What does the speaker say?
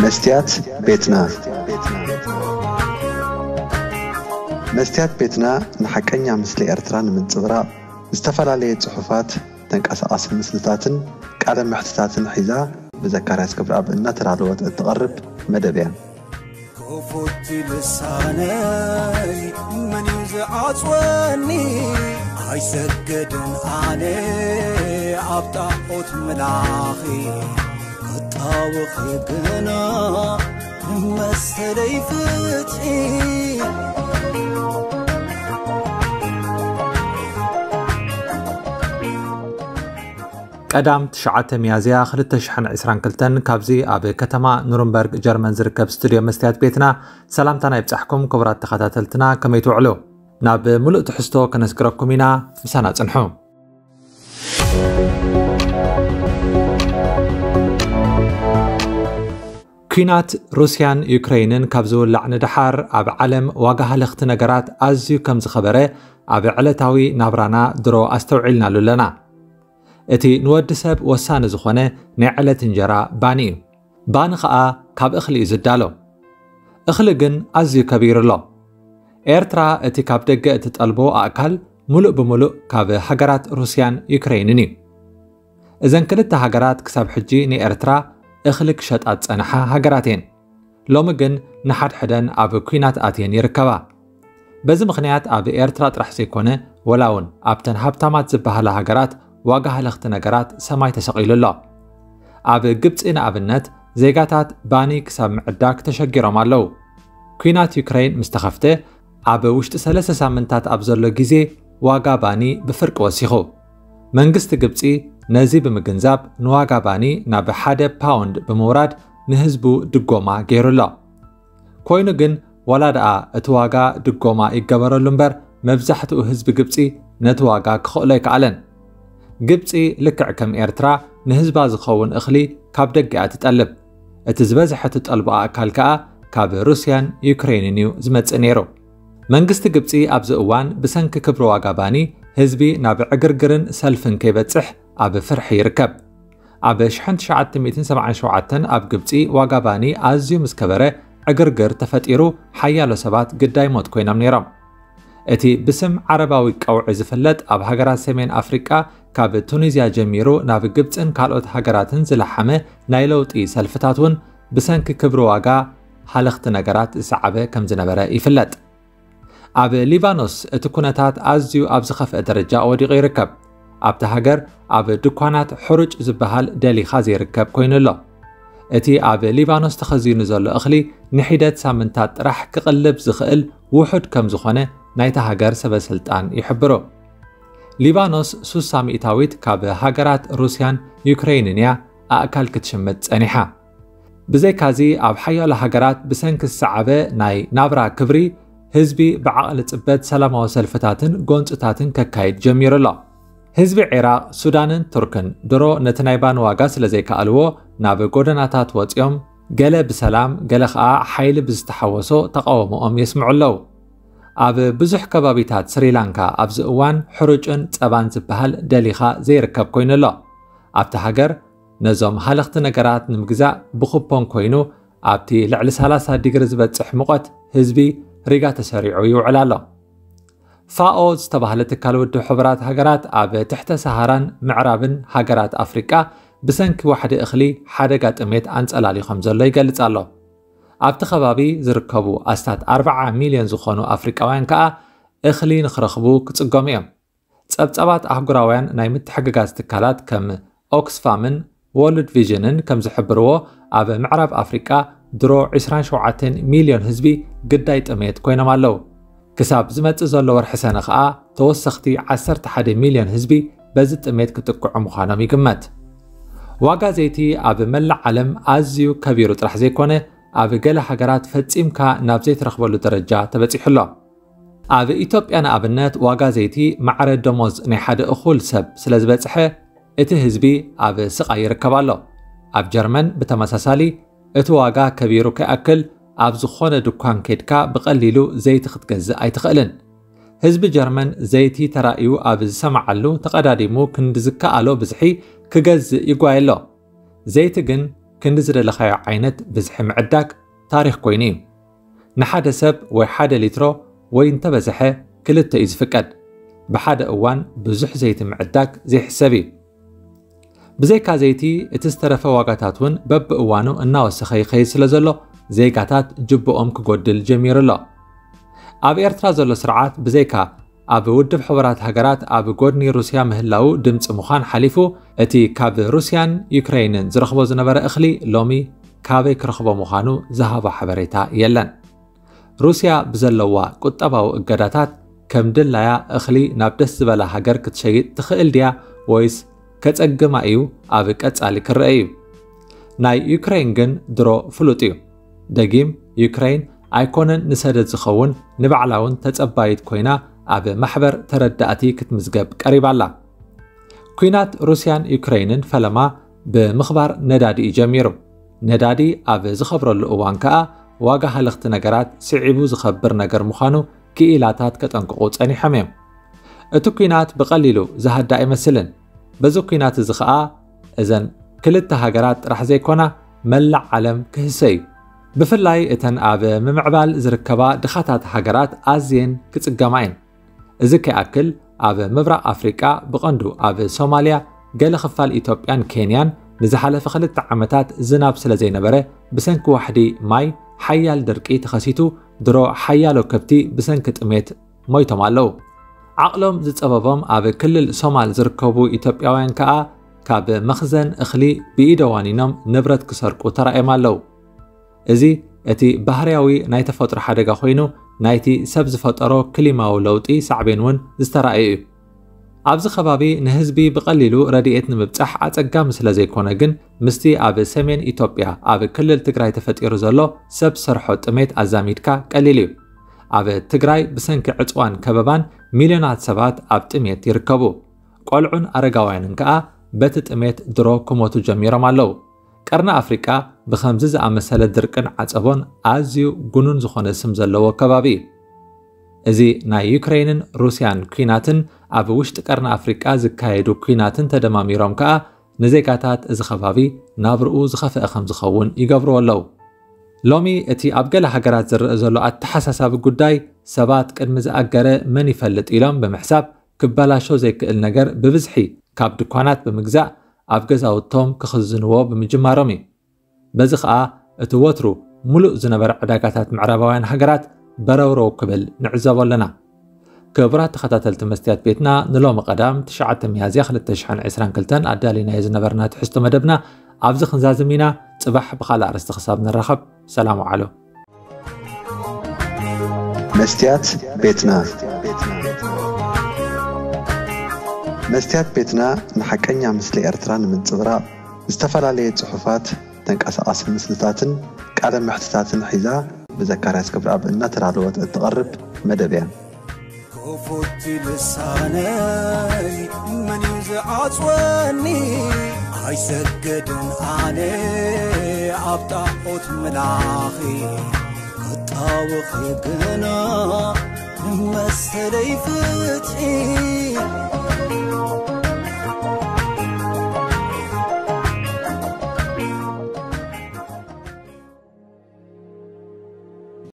መስትያት ቤትና። መስትያት ቤትና ንሓቀኛ ምስሊ ኤርትራ ንምንጽብራቕ ዝተፈላለየ ጽሑፋት፣ ተንቀሳቓሲ ምስልታትን ቃለ መሕትታትን ሒዛ ብዘካርያስ ገብረኣብ እናተዳለወት እትቐርብ መደብ እያ። ክፉት ልሳነይ መን እዩ ዝዓጽወኒ? ኣይሰግድን ኣነ ኣብ ጣዖት ምላኺ፣ ክጣወኺ ግና መሰለይ ፍትሒ። ቀዳም ትሽዓተ ሚያዝያ ክልተ ሽሕን ዕስራን ክልተን ካብዚ ኣብ ከተማ ኑርንበርግ ጀርመን ዝርከብ ስቱድዮ መስትያት ቤትና ሰላምታና ይብጻሕኩም ክቡራት ተኸታተልትና፣ ከመይ ትውዕሉ? ናብ ምሉእ ትሕዝቶ ከነስግረኩም ኢና፣ ምሳና ጽንሑ። ኲናት ሩስያን ዩክረይንን ካብ ዝውላዕ ንደሓር ኣብ ዓለም ዋጋ ሃለኽቲ ነገራት ኣዝዩ ከም ዝኸበረ ኣብ ዕለታዊ ናብራና ድሮ ኣስተውዒልናሉ ኣለና። እቲ ንወዲ ሰብ ወሳኒ ዝኾነ ናይ ዕለት እንጀራ ባኒ እዩ። ባኒ ኸኣ ካብ እኽሊ እዩ ዝዳሎ። እኽሊ ግን ኣዝዩ ከቢሩ ኣሎ። ኤርትራ እቲ ካብ ደገ እትጠልቦ ኣእካል ምሉእ ብምሉእ ካብ ሃገራት ሩስያን ዩክረይንን እዩ። እዘን ክልተ ሃገራት ክሳብ ሕጂ ንኤርትራ እኽሊ ክሸጣ ዝጸንሓ ሃገራት እየን። ሎሚ ግን ንሓድሕደን ኣብ ኲናት ኣትየን ይርከባ። በዚ ምኽንያት ኣብ ኤርትራ ጥራሕ ዘይኮነ፣ ወላ እውን ኣብተን ሃብታማት ዝበሃላ ሃገራት ዋጋ ሃለኽቲ ነገራት ሰማይ ተሰቒሉ ኣሎ። ኣብ ግብጺ ንኣብነት ዜጋታት ባኒ ክሳብ ምዕዳግ ተሸጊሮም ኣለዉ። ኲናት ዩክረይን ምስ ተኸፍተ፣ ኣብ ውሽጢ ሰለስተ ሳምንታት ኣብ ዘሎ ግዜ ዋጋ ባኒ ብፍርቂ ወሲኹ። መንግስቲ ግብጺ ነዚ ብምግንዛብ ንዋጋ ባኒ ናብ ሓደ ፓውንድ ብምውራድ ንህዝቡ ድጎማ ገይሩ ኣሎ። ኮይኑ ግን ዋላ ደኣ እቲ ዋጋ ድጎማ ይገበረሉ እምበር መብዛሕትኡ ህዝቢ ግብጺ ነቲ ዋጋ ክኽእሎ ኣይከኣለን። ግብጺ ልክዕ ከም ኤርትራ ንህዝባ ዝኸውን እኽሊ ካብ ደገ እያ ትጠልብ። እቲ ዝበዝሐ ትጠልቦ ኣእካል ከኣ ካብ ሩስያን ዩክሬንን እዩ ዝመጽእ ነይሩ። መንግስቲ ግብጺ ኣብዚ እዋን ብሰንኪ ክብሪ ዋጋ ባኒ ህዝቢ ናብ ዕግርግርን ሰልፍን ከይበጽሕ ኣብ ፍርሒ ይርከብ። ኣብ ሽሕን ትሽዓተ ሚእትን ሰብዓን ሸውዓተን ኣብ ግብጺ ዋጋ ባኒ ኣዝዩ ምስ ከበረ ዕግርግር ተፈጢሩ ሓያሎ ሰባት ግዳይ ሞት ኮይኖም ነይሮም። እቲ ብስም ዓረባዊ ቀውዒ ዝፍለጥ ኣብ ሃገራት ሰሜን ኣፍሪቃ ካብ ቱኒዝያ ጀሚሩ ናብ ግብጽን ካልኦት ሃገራትን ዝለሓመ ናይ ለውጢ ሰልፍታት እውን ብሰንኪ ክብሪ ዋጋ ሃለኽቲ ነገራት ዝሰዓበ ከም ዝነበረ ይፍለጥ። ኣብ ሊባኖስ እቲ ኩነታት ኣዝዩ ኣብ ዝኸፍአ ደረጃ ወዲቑ ይርከብ። ኣብታ ሃገር ኣብ ድኳናት ሕሩጭ ዝበሃል ደሊኻ ዘይርከብ ኮይኑ ኣሎ። እቲ ኣብ ሊባኖስ ተኸዚኑ ዘሎ እኽሊ ንሒደት ሳምንታት ጥራሕ ክቕልብ ዝኽእል ውሑድ ከም ዝኾነ ናይታ ሃገር ሰበ ስልጣን ይሕብሩ። ሊባኖስ ሱሳ ሚእታዊት ካብ ሃገራት ሩስያን ዩክሬንን እያ ኣእካል ክትሽምት ጸኒሓ። ብዘይካዚ ኣብ ሓያሎ ሃገራት ብሰንኪ ዝሰዓበ ናይ ናብራ ክብሪ ህዝቢ ብዓቕሊ ጽበት ሰላማዊ ሰልፍታትን ጎንጽታትን ከካይድ ጀሚሩ ኣሎ። ህዝቢ ዒራቕ፣ ሱዳንን ቱርክን ድሮ ነቲ ናይ ባኒ ዋጋ ስለ ዘይከኣልዎ ናብ ጎደናታት ወጺኦም ገለ ብሰላም ገለ ኸኣ ሓይሊ ብዝተሓወሶ ተቓውሞኦም የስምዑ ኣለዉ። ኣብ ብዙሕ ከባቢታት ስሪላንካ ኣብዚ እዋን ሕሩጭን ጸባን ዝበሃል ደሊኻ ዘይርከብ ኮይኑ ኣሎ። ኣብቲ ሃገር ነዞም ሃለኽቲ ነገራት ንምግዛእ ብኩፖን ኮይኑ ኣብቲ ልዕሊ ሰላሳ ዲግሪ ዝበጽሕ ሙቐት ህዝቢ ሪጋ ተሰሪዑ ይውዕል ኣሎ። ፋኦ ዝተባህለ ትካል ውድብ ሕቡራት ሃገራት ኣብ ትሕተ ሰሃራን ምዕራብን ሃገራት ኣፍሪቃ ብሰንኪ ዋሕዲ እኽሊ ሓደጋ ጥሜት ኣንጸላልዩ ከም ዘሎ ይገልጽ ኣሎ። ኣብቲ ከባቢ ዝርከቡ ኣስታት ኣርብዓ ሚልዮን ዝኾኑ ኣፍሪቃውያን ከኣ እኽሊ ንኽረኽቡ ክጽገሙ እዮም። ጸብጻባት ኣህጉራውያን ናይ ምትሕግጋዝ ትካላት ከም ኦክስፋምን ወርልድ ቪዥንን ከም ዝሕብርዎ፣ ኣብ ምዕራብ ኣፍሪቃ ድሮ ዕስራን ሸውዓተን ሚልዮን ህዝቢ ግዳይ ጥሜት ኮይኖም ኣለዉ። ክሳብ ዝመጽእ ዘሎ ወርሒ ሰነ ኸኣ ተወሰኽቲ ዓሰርተ ሓደ ሚልዮን ህዝቢ በዚ ጥሜት ክጥቅዑ ምዃኖም ይግመት። ዋጋ ዘይቲ ኣብ መላእ ዓለም ኣዝዩ ከቢሩ ጥራሕ ዘይኮነ፣ ኣብ ገለ ሃገራት ፈጺምካ ናብ ዘይትረኽበሉ ደረጃ ተበጺሑ ኣሎ። ኣብ ኢትዮጵያ ንኣብነት ዋጋ ዘይቲ ማዕረ ደሞዝ ናይ ሓደ እኹል ሰብ ስለ ዝበጽሐ፣ እቲ ህዝቢ ኣብ ስቓይ ይርከብ ኣሎ። ኣብ ጀርመን ብተመሳሳሊ እቲ ዋጋ ከቢሩ ከይኣክል ኣብ ዝኾነ ድኳን ከይድካ ብቐሊሉ ዘይቲ ክትገዝእ ኣይትኽእልን። ህዝቢ ጀርመን ዘይቲ ተራእዩ ኣብ ዝሰምዓሉ ተቐዳዲሙ ክንዲ ዝከኣሎ ብዝሒ ክገዝእ ይጓየ ኣሎ። ዘይቲ ግን ክንዲ ዝደለኻዮ ዓይነት ብዝሒ ምዕዳግ ታሪኽ ኮይኑ እዩ። ንሓደ ሰብ ወይ ሓደ ሊትሮ ወይ እንተበዝሐ ክልተ እዩ ዝፍቀድ። ብሓደ እዋን ብዙሕ ዘይቲ ምዕዳግ ዘይሕሰብ እዩ። ብዘይካ ዘይቲ እቲ ዝተረፈ ዋጋታት እውን በብእዋኑ እናወሰኸ ይኸይድ ስለ ዘሎ ዜጋታት ጅብኦም ክጎድል ጀሚሩ ኣሎ። ኣብ ኤርትራ ዘሎ ስርዓት ብዘይካ ኣብ ውድብ ሕቡራት ሃገራት ኣብ ጎድኒ ሩስያ ምህላው ድምፂ ምዃን ሓሊፉ እቲ ካብ ሩስያን ዩክሬንን ዝረኽቦ ዝነበረ እኽሊ ሎሚ ካበይ ክረኽቦ ምዃኑ ዝሃቦ ሓበሬታ የለን። ሩስያ ብዘለዋ ቁጠባዊ እገዳታት ከም ድላያ እኽሊ ናብ ደስ ዝበላ ሃገር ክትሸይጥ ትኽእል ድያ ወይስ ከጸግማ እዩ ኣብ ቀጻሊ ክረአ እዩ። ናይ ዩክሬን ግን ድሮ ፍሉጥ እዩ። ደጊም ዩክሬን ኣይኮነን ንሰደድ ዝኸውን ንባዕላ እውን ተጸባይት ኮይና ኣብ ማሕበር ተረዳእቲ ክትምዝገብ ቀሪባ ኣላ። ኲናት ሩስያን ዩክሬንን ፈለማ ብምኽባር ነዳዲ እዩ ጀሚሩ። ነዳዲ ኣብ ዝኸብረሉ እዋን ከኣ ዋጋ ሃለኽቲ ነገራት ስዒቡ ዝኸብር ነገር ምዃኑ ክኢላታት ከጠንቅቑ ጸኒሖም እዮም። እቲ ኲናት ብቐሊሉ ዝሃዳ ኣይመስልን። በዚ ኲናት እዚ ኸኣ እዘን ክልተ ሃገራት ጥራሕ ዘይኮና መላእ ዓለም ክህሰ እዩ። ብፍላይ እተን ኣብ ምምዕባል ዝርከባ ድኻታት ሃገራት ኣዝየን ክጽገማ እየን። እዚ ከይኣክል ኣብ ምብራቕ ኣፍሪቃ ብቐንዱ ኣብ ሶማልያ ገለ ክፋል ኢትዮጵያን ኬንያን ንዝሓለፈ ክልተ ዓመታት ዝናብ ስለ ዘይነበረ ብሰንኪ ዋሕዲ ማይ ሓያል ድርቂ ተኸሲቱ ድሮ ሓያሎ ከብቲ ብሰንኪ ጥሜት ሞይቶም ኣለዉ። ዓቕሎም ዝጸበቦም ኣብ ክልል ሶማል ዝርከቡ ኢትዮጵያውያን ከኣ ካብ መኽዘን እኽሊ ብኢደ ዋኒኖም ንብረት ክሰርቁ ተራእዮም ኣለዉ። እዚ እቲ ባህርያዊ ናይ ተፈጥሮ ሓደጋ ኮይኑ ናይቲ ሰብ ዝፈጠሮ ክሊማዊ ለውጢ ሳዕቤን እውን ዝተራእየ እዩ። ኣብዚ ከባቢ ንህዝቢ ብቐሊሉ ረድኤት ንምብጻሕ ኣጸጋሚ ስለ ዘይኮነ ግን ምስቲ ኣብ ሰሜን ኢትዮጵያ ኣብ ክልል ትግራይ ተፈጢሩ ዘሎ ሰብ ሰርሖ ጥሜት ኣዛሚድካ ቀሊል እዩ። ኣብ ትግራይ ብሰንኪ ዕጽዋን ከበባን ሚልዮናት ሰባት ኣብ ጥሜት ይርከቡ። ቆልዑን ኣረጋውያንን ከኣ በቲ ጥሜት ድሮ ክሞቱ ጀሚሮም ኣለዉ። ቀርኒ ኣፍሪቃ ብኸምዚ ዝኣመሰለ ድርቅን ዓጸቦን ኣዝዩ ጉኑን ዝኾነ ስም ዘለዎ ከባቢ እዩ። እዚ ናይ ዩክሬንን ሩስያን ኲናትን ኣብ ውሽጢ ቀርኒ ኣፍሪቃ ዝካየዱ ኲናትን ተደማሚሮም ከኣ ንዜጋታት እዚ ከባቢ ናብርኡ ዝኸፍአ ከም ዝኸውን ይገብርዎ ኣለዉ። ሎሚ እቲ ኣብ ገለ ሃገራት ዝረአ ዘሎ ኣተሓሳሳቢ ጉዳይ ሰባት ቅድሚ ዝኣገረ መን ይፈልጥ ኢሎም ብምሕሳብ ክበላሾ ዘይክእል ነገር ብብዝሒ ካብ ድኳናት ብምግዛእ ኣብ ገዛውቶም ክኽዝንዎ ብምጅማሮም እዩ። በዚ ኸኣ እቲ ወትሩ ምሉእ ዝነበረ ዕዳጋታት ምዕራባውያን ሃገራት በረውረው ክብል ንዕዘቦ ኣለና። ክቡራት ተኸታተልቲ መስትያት ቤትና ንሎሚ ቀዳም ትሽዓተ ሚያዝያ ክልተ ሽሕን ዕስራን ክልተን ኣዳሊናዮ ዝነበርና ትሕዝቶ መደብና ኣብዚ ክንዛዝም ኢና። ጽባሕ ብኻልእ ኣርእስቲ ክሳብ ንራኸብ ሰላም ውዓሉ። መስትያት ቤትና መስትያት ቤትና ንሓቀኛ ምስሊ ኤርትራ ንምንጽብራቕ ዝተፈላለየ ጽሑፋት፣ ተንቀሳቓሲ ምስልታትን ቃለ መሕትታትን ሒዛ ብዘካርያስ ክብረኣብ እናተዳለወት እትቐርብ መደብ እያ። ክፉት ልሳነይ መን እዩ ዝዓጽወኒ? ኣይሰገድን ኣነ ኣብ ጣዖት ምላኺ ክጣወኺ ግና መሰለይ ፍትሒ